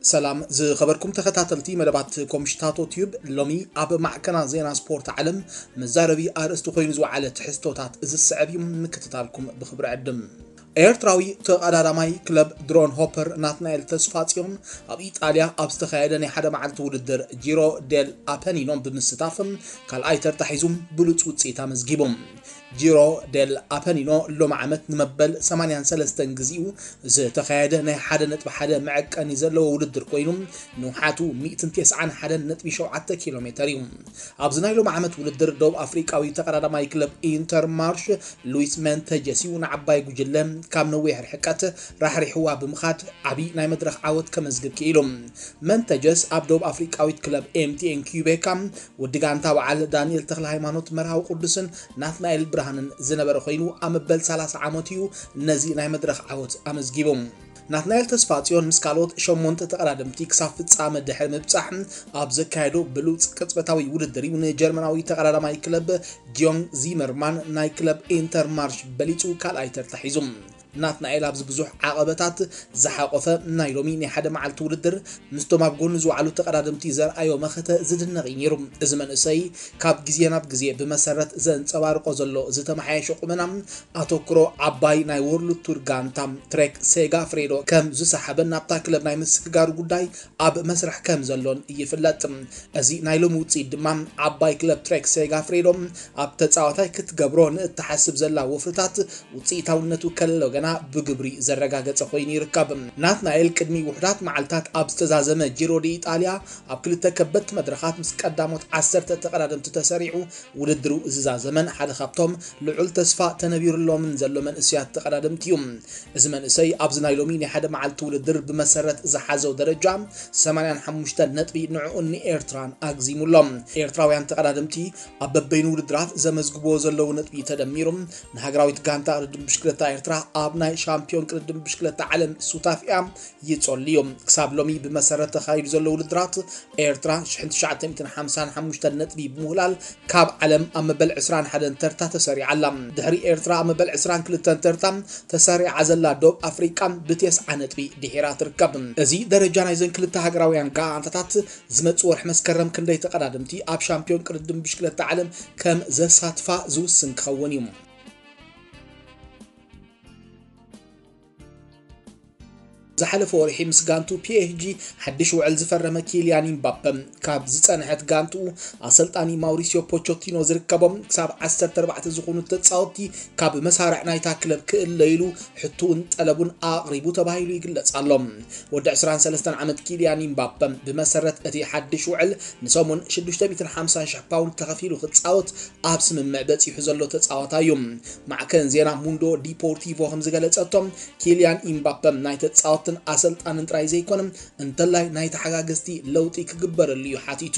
ሰላም ዝኸበርኩም ተኸታተልቲ መደባት ኮምሽታቶ ቲዩብ፣ ሎሚ ኣብ ማዕከና ዜና ስፖርት ዓለም መዛረቢ ኣርእስቲ ኮይኑ ዝወዓለ ትሕዝቶታት ዝስዕብ እዩ። ምክትታልኩም ብኽብሪ ዕድም። ኤርትራዊ ተቐዳዳማይ ክለብ ድሮን ሆፐር ናትናኤል ተስፋጽዮን ኣብ ኢጣልያ ኣብ ዝተኻየደ ናይ ሓደ መዓልቲ ውድድር ጂሮ ዴል ኣፐኒኖ ብምስታፍ ካልኣይ ተርታ ሒዙ ብሉጽ ውጽኢት ኣመዝጊቡ። ጂሮ ዴል ኣፐኒኖ ሎሚ ዓመት ንመበል ሰማንያን ሰለስተን ግዜኡ ዝተኻየደ ናይ ሓደ ነጥቢ ሓደ መዐቀኒ ዘለዎ ውድድር ኮይኑ፣ ንውሓቱ ሚእትን ተስዓን ሓደን ነጥቢ ሸውዓተ ኪሎ ሜተር እዩ። ኣብዚ ናይ ሎሚ ዓመት ውድድር ደቡብ ኣፍሪቃዊ ተቐዳዳማይ ክለብ ኢንተር ማርሽ ሉዊስ መንተጀስ እዩ ንዓባይ ጉጅለ ካብ ነዊሕ ርሕቀት ራሕሪሕዋ ብምኻድ ዓቢ ናይ መድረኽ ዓወት ከመዝግብ ክኢሉ። መንተጀስ ኣብ ደቡብ ኣፍሪቃዊት ክለብ ኤምቲኤን ኪዩቤካ ወዲ ጋንታ በዓል ዳንኤል ተኽለ ሃይማኖት መርሃዊ ቅዱስን ናትናኤል ብርሃንን ዝነበረ ኮይኑ፣ ኣብ መበል ሰላሳ ዓመት እዩ ነዚ ናይ መድረኽ ዓወት ኣመዝጊቡ። ናትናኤል ተስፋጽዮን ምስ ካልኦት ሸሞንተ ተቐዳደምቲ ክሳብ ፍጻመ ድሕሪ ምብጻሕ ኣብ ዘካየዶ ብሉጽ ቅጽበታዊ ውድድር እዩ ንጀርመናዊ ተቐዳዳማይ ክለብ ጂዮንግ ዚመርማን ናይ ክለብ ኢንተር ማርሽ በሊጹ ካልኣይ ተርታ ሒዙ። ናትናኤል ኣብዚ ብዙሕ ዓቐበታት ዝሓቖፈ ናይ ሎሚ ናይ ሓደ መዓልቲ ውድድር ምስቶም ኣብ ጎኑ ዝወዓሉ ተቐዳደምቲ ዘርኣዮ መኸተ ዝድነቕ እዩ ነይሩ። እዚ መንእሰይ ካብ ግዜ ናብ ግዜ ብመሰረት ዘንጸባርቆ ዘሎ ዝተመሓየሸ ቁመና ኣተኩሮ ዓባይ ናይ ወርልድ ቱር ጋንታ ትሬክ ሴጋፍሬዶ ከም ዝሰሓበን ናብታ ክለብ ናይ ምስግጋሩ ጉዳይ ኣብ መስርሕ ከም ዘሎን ይፍለጥ። እዚ ናይ ሎሚ ውጽኢት ድማ ዓባይ ክለብ ትሬክ ሴጋፍሬዶ ኣብ ተጻዋታይ ክትገብሮ ንእትሓስብ ዘላ ወፍርታት ውጽኢታውነቱ ከሎ ገና ብግብሪ ዘረጋገጸ ኮይኑ ይርከብ። ናትናኤል ቅድሚ ውሑዳት መዓልታት ኣብ ዝተዛዘመ ጂሮ ዲ ኢጣልያ ኣብ ክልተ ከበድቲ መድረኻት ምስ ቀዳሞት ዓሰርተ ተቐዳደምቲ ተሰሪዑ ውድድሩ ዝዛዘመን ሓደ ካብቶም ልዑል ተስፋ ተነቢሩሎምን ዘሎ መንእሰያት ተቐዳደምቲ እዩ። እዚ መንእሰይ ኣብዚ ናይ ሎሚ ናይ ሓደ መዓልቲ ውድድር ብመሰረት ዝሓዘው ደረጃ ሰማንያን ሓሙሽተን ነጥቢ ንዕኡን ንኤርትራን ኣግዚሙሎም። ኤርትራውያን ተቐዳደምቲ ኣብ በበይኑ ውድድራት ዘመዝግብዎ ዘለዉ ነጥቢ ተደሚሩ ንሃገራዊት ጋንታ ቅድድም ብሽክለታ ኤርትራ ኣብ ናይ ሻምፒዮን ቅድድም ብሽክለታ ዓለም ሱታፊኣ ይጸልዩ። ክሳብ ሎሚ ብመሰረት ተኻይዱ ዘሎ ውድድራት ኤርትራ ሽሕን ትሽዓተ ሚእትን ሓምሳን ሓሙሽተን ነጥቢ ብምውላል ካብ ዓለም ኣብ መበል ዕስራን ሓደን ተርታ ተሰሪዓ ኣላ። ድሕሪ ኤርትራ ኣብ መበል ዕስራን ክልተን ተርታ ተሰሪዓ ዘላ ደቡብ ኣፍሪቃ ብተስዓ ነጥቢ ድሒራ ትርከብ። እዚ ደረጃ ናይዘን ክልተ ሃገራውያን ጋንታታት ዝመጽእ ወርሒ መስከረም ክንደይ ተቐዳደምቲ ኣብ ሻምፒዮን ቅድድም ብሽክለታ ዓለም ከም ዘሳትፋ ዝውስን ክኸውን እዩ። ዝሓለፈ ወርሒ ምስ ጋንቱ ፒኤስጂ ሓድሽ ውዕል ዝፈረመ ኪልያን ኢምባፐ፣ ካብ ዝጸንሐት ጋንቱ ኣሰልጣኒ ማውሪሲዮ ፖቾቲኖ ዝርከቦም ክሳብ ዓሰርተ ኣርባዕተ ዝኾኑ ተጻወትቲ ካብ መሳርዕ ናይታ ክለብ ክእለይሉ ሕቱውን ጠለቡን ኣቕሪቡ ተባሂሉ ይግለጽ ኣሎ። ወዲ ዕስራን ሰለስተን ዓመት ኪልያን ኢምባፐ ብመሰረት እቲ ሓድሽ ውዕል ንሰሙን ሽዱሽተ ሚእትን ሓምሳን ሽሕ ፓውንድ ተኸፊሉ ክጻወት ኣብ ስምምዕ በጺሑ ዘሎ ተጻዋታይ እዩ። ማዕከን ዜና ሙንዶ ዲፖርቲቮ ከም ዝገለጸቶ፣ ኪልያን ኢምባፐ ናይ ተጻወትን ኣሰልጣንን ጥራይ ዘይኮነ፣ እንተላይ ናይ ተሓጋገዝቲ ለውጢ ክግበረሉ እዩ ሓቲቱ።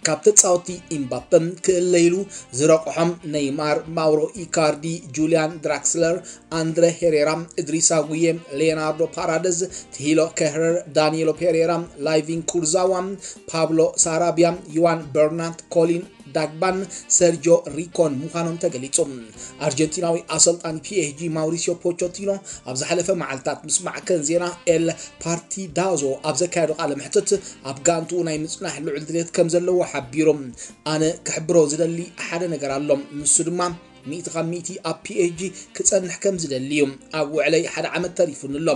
ካብ ተጻወቲ ኢምባፐ ክእለይሉ ዝረቑሖም ኔይማር፣ ማውሮ ኢካርዲ፣ ጁልያን ድራክስለር፣ ኣንድረ ሄሬራ፣ እድሪሳ ጉዬ፣ ሌናርዶ ፓራደዝ፣ ትሂሎ ከህረር፣ ዳኒሎ ፔሬራ፣ ላይቪን ኩርዛዋ፣ ፓብሎ ሳራቢያ፣ ዩዋን በርናት፣ ኮሊን ዳግባን ሰርጆ ሪኮን ምዃኖም ተገሊጹ። ኣርጀንቲናዊ ኣሰልጣኒ ፒኤስጂ ማውሪሲዮ ፖቾቲኖ ኣብ ዝሓለፈ መዓልታት ምስ ማዕከን ዜና ኤል ፓርቲዳዞ ኣብ ዘካየዶ ቃለ መሕትት፣ ኣብ ጋንትኡ ናይ ምጽናሕ ልዑል ድሌት ከም ዘለዎ ሓቢሩ። ኣነ ክሕብሮ ዝደሊ ሓደ ነገር ኣሎ፣ ንሱ ድማ ሚእቲ ካብ ሚእቲ ኣብ ፒኤስጂ ክጸንሕ ከም ዝደሊ እዩ። ኣብ ውዕለይ ሓደ ዓመት ተሪፉኒ ኣሎ።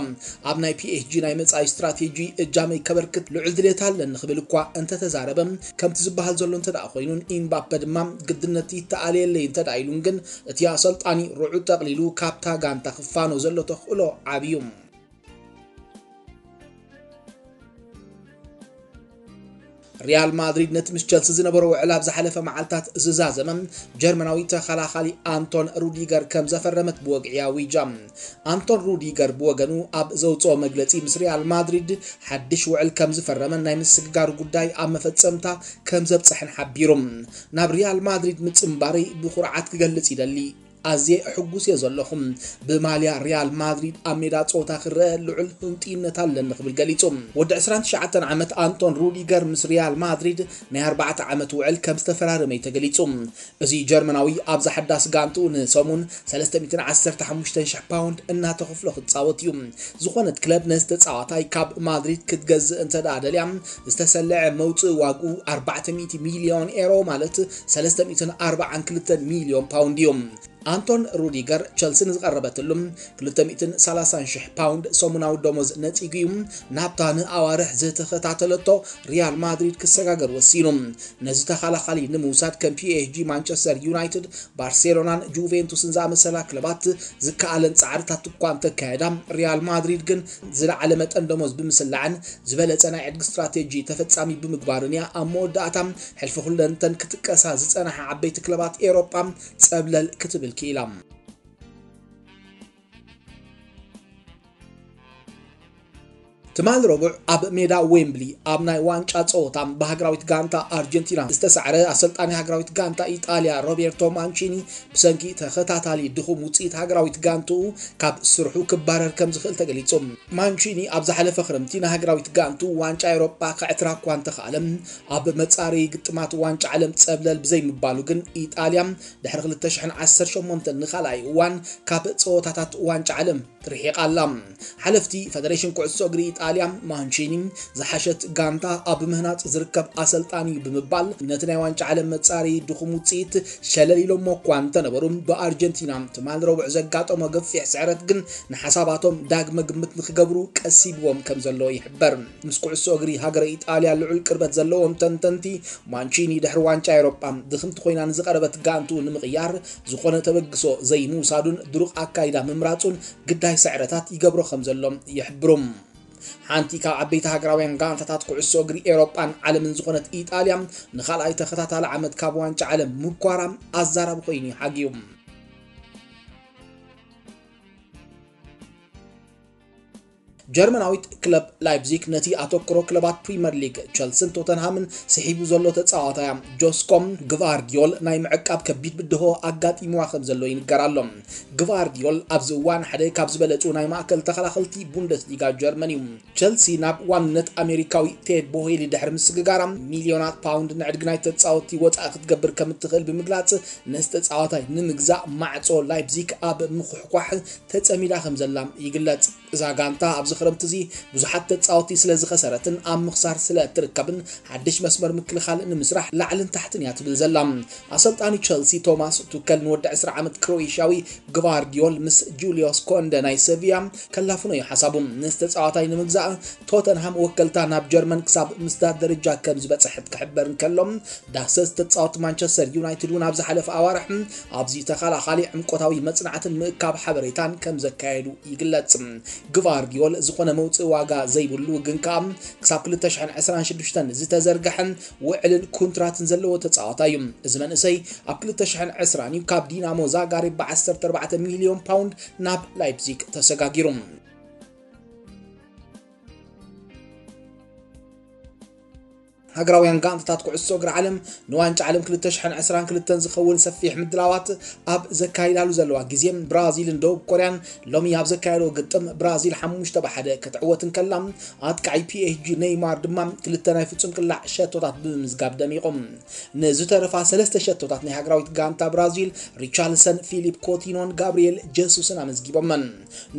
ኣብ ናይ ፒኤስጂ ናይ መጻኢ ስትራቴጂ እጃመይ ከበርክት ልዑል ድሌት ኣለኒ ክብል እኳ እንተተዛረበ፣ ከምቲ ዝበሃል ዘሎ እንተ ደኣ ኮይኑን ኢምባፐ ድማ ግድነት ይተኣለየለይ እንተ ደኣ ኢሉን ግን፣ እቲ ኣሰልጣኒ ርዑድ ጠቕሊሉ ካብታ ጋንታ ክፋኖ ዘሎ ተኽእሎ ዓቢ እዩ። ሪያል ማድሪድ ነቲ ምስ ቸልሲ ዝነበሮ ውዕል ኣብ ዝሓለፈ መዓልታት ዝዛዘመ ጀርመናዊ ተኸላኻሊ ኣንቶን ሩዲገር ከም ዘፈረመት ብወግዒ ኣዊጃ። ኣንቶን ሩዲገር ብወገኑ ኣብ ዘውፅኦ መግለፂ፣ ምስ ሪያል ማድሪድ ሓድሽ ውዕል ከም ዝፈረመን ናይ ምስግጋሩ ጉዳይ ኣብ መፈፀምታ ከም ዘብፅሐን ሓቢሩ። ናብ ሪያል ማድሪድ ምፅንባረይ ብኩርዓት ክገልፅ ይደሊ። ኣዝየ ሕጉስ እየ ዘለኹ። ብማልያ ሪያል ማድሪድ ኣብ ሜዳ ጸወታ ክረአ ልዑል ህንጥይነት ኣለኒ ክብል ገሊጹ። ወዲ ዕስራን ትሽዓተን ዓመት ኣንቶን ሩዲገር ምስ ሪያል ማድሪድ ናይ ኣርባዕተ ዓመት ውዕል ከም ዝተፈራረመ እዩ ተገሊጹ። እዚ ጀርመናዊ ኣብዛ ሓዳስ ጋንትኡ ንሰሙን ሰለስተ ሚእትን ዓሰርተ ሓሙሽተ ሽሕ ፓውንድ እናተኸፍሎ ክጻወት እዩ። ዝኾነት ክለብ ነዚ ተጻዋታይ ካብ ማድሪድ ክትገዝእ እንተ ደኣ ደልያ፣ ዝተሰለዐ መውጽኢ ዋግኡ ኣርባዕተ ሚእቲ ሚልዮን ኤሮ፣ ማለት ሰለስተ ሚእትን ኣርባዓን ክልተን ሚልዮን ፓውንድ እዩ። ኣንቶን ሩዲገር ቸልሲ ንዝቐረበትሉ ክልተ ሚእትን ሰላሳን ሽሕ ፓውንድ ሰሙናዊ ደሞዝ ነጺጉ እዩ፣ ናብታ ንኣዋርሕ ዝተኸታተለቶ ሪያል ማድሪድ ክሰጋገር ወሲኑ። ነዚ ተኸላኻሊ ንምውሳድ ከም ፒ ኤስ ጂ፣ ማንቸስተር ዩናይትድ፣ ባርሴሎናን ጁቬንቱስን ዝኣመሰላ ክለባት ዝከኣለን ጻዕርታት እኳ እንተካየዳ፣ ሪያል ማድሪድ ግን ዝለዓለ መጠን ደሞዝ ብምስላዕን ዝበለጸ ናይ ዕድጊ ስትራቴጂ ተፈጻሚ ብምግባርን እያ ኣብ መወዳእታ ሕልፊ ኩለንተን ክጥቀሳ ዝጸንሓ ዓበይቲ ክለባት ኤውሮጳ ጸብለል ክትብል ክኢላ። ትማል ረቡዕ ኣብ ሜዳ ዌምብሊ ኣብ ናይ ዋንጫ ጸወታ ብሃገራዊት ጋንታ ኣርጀንቲና ዝተሳዕረ ኣሰልጣኒ ሃገራዊት ጋንታ ኢጣልያ ሮቤርቶ ማንቺኒ ብሰንኪ ተኸታታሊ ድኹም ውጽኢት ሃገራዊት ጋንትኡ ካብ ስርሑ ክባረር ከም ዝኽእል ተገሊጹ። ማንቺኒ ኣብ ዝሓለፈ ክረምቲ ንሃገራዊት ጋንትኡ ዋንጫ ኤውሮጳ ከዕትራ እኳ እንተኸኣለ፣ ኣብ መጻረዪ ግጥማት ዋንጫ ዓለም ጸብለል ብዘይምባሉ ግን ኢጣልያ ድሕሪ ክልተ ሽሕን ዓሰርተ ሸሞንተን ንኻልኣይ እዋን ካብ ጸወታታት ዋንጫ ዓለም ርሒቓ ኣላ። ሓለፍቲ ፈደሬሽን ኩዕሶ እግሪ ኢጣልያ ማንቺኒ ዝሓሸት ጋንታ ኣብ ምህናጽ ዝርከብ ኣሰልጣኒ እዩ ብምባል ነቲ ናይ ዋንጫ ዓለም መጻሪ ድኹም ውጽኢት ሸለል ኢሎሞ እኳ እንተነበሩ፣ ብኣርጀንቲና ትማል ረቡዕ ዘጋጠሞ ገፊሕ ስዕረት ግን ንሓሳባቶም ዳግመ ግምት ንክገብሩ ቀሲብዎም ከም ዘሎ ይሕበር። ምስ ኩዕሶ እግሪ ሃገረ ኢጣልያ ልዑል ቅርበት ዘለዎም ተንተንቲ፣ ማንቺኒ ድሕሪ ዋንጫ ኤውሮጳ ድኽምቲ ኮይና ንዝቐረበት ጋንቱ ንምቕያር ዝኾነ ተበግሶ ዘይምውሳዱን ድሩቕ ኣካይዳ ምምራጹን ግዳይ ስዕረታት ይገብሮ ከም ዘሎ ይሕብሩ። ሓንቲ ካብ ዓበይቲ ሃገራውያን ጋንታታት ኩዕሶ እግሪ ኤውሮጳን ዓለምን ዝኾነት ኢጣልያ ንኻልኣይ ተኸታታሊ ዓመት ካብ ዋንጫ ዓለም ምኳራ ኣዛራቢ ኮይኑ እዩ ሓግዩ። ጀርመናዊት ክለብ ላይፕዚግ ነቲ ኣተኩሮ ክለባት ፕሪመር ሊግ ቸልስን ቶተንሃምን ስሒቡ ዘሎ ተጻዋታያ ጆስኮ ግቫርዲዮል ናይ ምዕቃብ ከቢድ ብድሆ ኣጋጢምዋ ከም ዘሎ ይንገር ኣሎ። ግቫርዲዮል ኣብዚ እዋን ሓደ ካብ ዝበለጹ ናይ ማእከል ተኸላኸልቲ ቡንደስሊጋ ጀርመን እዩ። ቸልሲ ናብ ዋንነት ኣሜሪካዊ ቴድ ቦሄሊ ድሕሪ ምስግጋራ ሚልዮናት ፓውንድ ንዕድጊ ናይ ተጻወትቲ ወጻኢ ክትገብር ከም እትኽእል ብምግላጽ ነዚ ተጻዋታይ ንምግዛእ ማዕጾ ላይፕዚግ ኣብ ምኹሕኳሕ ተጸሚዳ ከም ዘላ ይግለጽ። እዛ ጋንታ ኣብዚ ክረምቲ እዚ ብዙሓት ተጻወትቲ ስለ ዝኸሰረትን ኣብ ምኽሳር ስለ እትርከብን ሓድሽ መስመር ምክልኻል ንምስራሕ ላዕልን ታሕትን እያ ትብል ዘላ። ኣሰልጣኒ ቸልሲ ቶማስ ቱከል ንወዲ ዕስራ ዓመት ክሮኤሽያዊ ግቫርዲዮል ምስ ጁልዮስ ኮንደ ናይ ሰቪያ ከላፍኖ እዩ ሓሳቡ። ነዚ ተጻዋታይ ንምግዛእ ቶተንሃም ወከልታ ናብ ጀርመን ክሳብ ምስዳድ ደረጃ ከም ዝበጽሐት ክሕበር እንከሎ፣ ዳህሰስ ተጻወት ማንቸስተር ዩናይትድ እውን ኣብ ዝሓለፈ ኣዋርሕ ኣብዚ ተኸላኻሊ ዕምቆታዊ መጽናዕትን ምእካብ ሓበሬታን ከም ዘካየዱ ይግለጽ። ግቫርዲዮል ዝኾነ መውጽኢ ዋጋ ዘይብሉ ግን ከኣ ክሳብ ክልተ ሽሕን ዕስራን ሽዱሽተን ዝተዘርግሐ ውዕልን ኩንትራትን ዘለዎ ተጻዋታይ እዩ። እዚ መንእሰይ ኣብ ክልተ ሽሕን ዕስራን እዩ ካብ ዲናሞ ዛጋሬብ ብ ዓሰርተ ኣርባዕተ ሚልዮን ፓውንድ ናብ ላይፕዚግ ተሰጋጊሩ። ሃገራውያን ጋንታታት ኩዕሶ እግሪ ዓለም ንዋንጫ ዓለም ክልተ ሽሕን ዕስራን ክልተን ዝኸውን ሰፊሕ ምድላዋት ኣብ ዘካይዳሉ ዘለዋ ግዜ፣ ብራዚልን ደቡብ ኮርያን ሎሚ ኣብ ዘካየዶ ግጥም ብራዚል ሓሙሽተ ብ ሓደ ክትዕወት እንከላ፣ ኣጥቃዒ ፒ ኤስ ጂ ኔይማር ድማ ክልተ ናይ ፍጹም ቅላዕ ሸቶታት ብምምዝጋብ ደሚቑ። ንዝተረፋ ሰለስተ ሸቶታት ናይ ሃገራዊት ጋንታ ብራዚል ሪቻርልሰን፣ ፊሊፕ ኮቲኖን ጋብሪኤል ጀሱስን ኣመዝጊቦመን።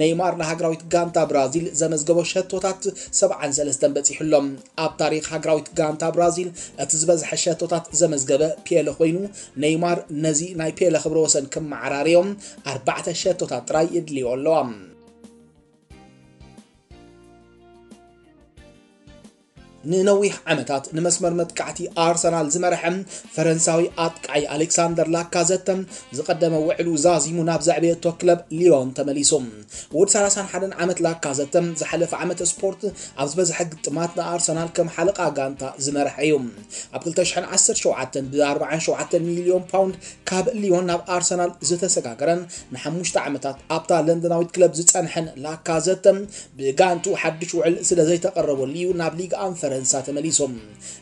ኔይማር ንሃገራዊት ጋንታ ብራዚል ዘመዝገቦ ሸቶታት ሰብዓን ሰለስተን በጺሑ ኣሎ። ኣብ ታሪኽ ሃገራዊት ጋንታ ብራዚል እቲ ዝበዝሐ ሸቶታት ዘመዝገበ ፔለ ኮይኑ፣ ኔይማር ነዚ ናይ ፔለ ክብረ ወሰን ክመዓራርዮ ኣርባዕተ ሸቶታት ጥራይ የድልዮ ኣለዋ። ንነዊሕ ዓመታት ንመስመር መጥቃዕቲ ኣርሰናል ዝመርሐ ፈረንሳዊ ኣጥቃዒ ኣሌክሳንደር ላካዘተ ዝቐደመ ውዕሉ ዛዚሙ ናብ ዘዕበየቶ ክለብ ሊዮን ተመሊሱ። ወዲ ሰላሳን ሓደን ዓመት ላካዘተ ዝሓለፈ ዓመት ስፖርት ኣብ ዝበዝሐ ግጥማት ንኣርሰናል ከም ሓለቓ ጋንታ ዝመርሐ እዩ። ኣብ ክልተ ሽሕን ዓሰርተ ሸውዓተን ብ ኣርባዓን ሸውዓተን ሚልዮን ፓውንድ ካብ ሊዮን ናብ ኣርሰናል ዝተሰጋገረን ንሓሙሽተ ዓመታት ኣብታ ለንደናዊት ክለብ ዝጸንሐን ላካዘተ፣ ብጋንቱ ሓድሽ ውዕል ስለ ዘይተቐረበሉ እዩ ናብ ሊግ ኣንፈረ ፈረንሳ ተመሊሶም።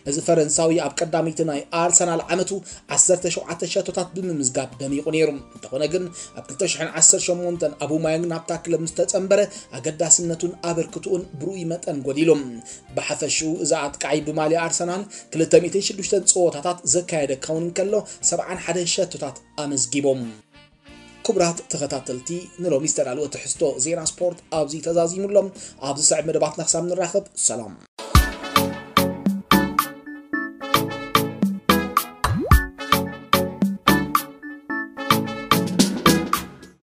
እዚ ፈረንሳዊ ኣብ ቀዳመይቲ ናይ ኣርሰናል ዓመቱ ዓሰርተ ሸውዓተ ሸቶታት ብምምዝጋብ ደሚቑ ነይሩ። እንተኾነ ግን ኣብ ክልተ ሽሕን ዓሰርተ ሸሞንተን ኣቡማያንግ ናብታ ክለብ ምስ ተጸንበረ ኣገዳስነቱን ኣበርክትኡን ብርኡይ መጠን ጎዲሉ። ብሓፈሽኡ እዚ ኣጥቃዒ ብማልያ ኣርሰናል ክልተ ሚእትን ሽዱሽተን ጸወታታት ዘካየደ ክኸውን እንከሎ ሰብዓን ሓደን ሸቶታት ኣመዝጊቦም። ክቡራት ተኸታተልቲ፣ ንሎሚ ዝተዳለወ ትሕዝቶ ዜና ስፖርት ኣብዚ ተዛዚሙ ኣሎ። ኣብ ዝስዕብ መደባትና ክሳብ ንራኸብ ሰላም።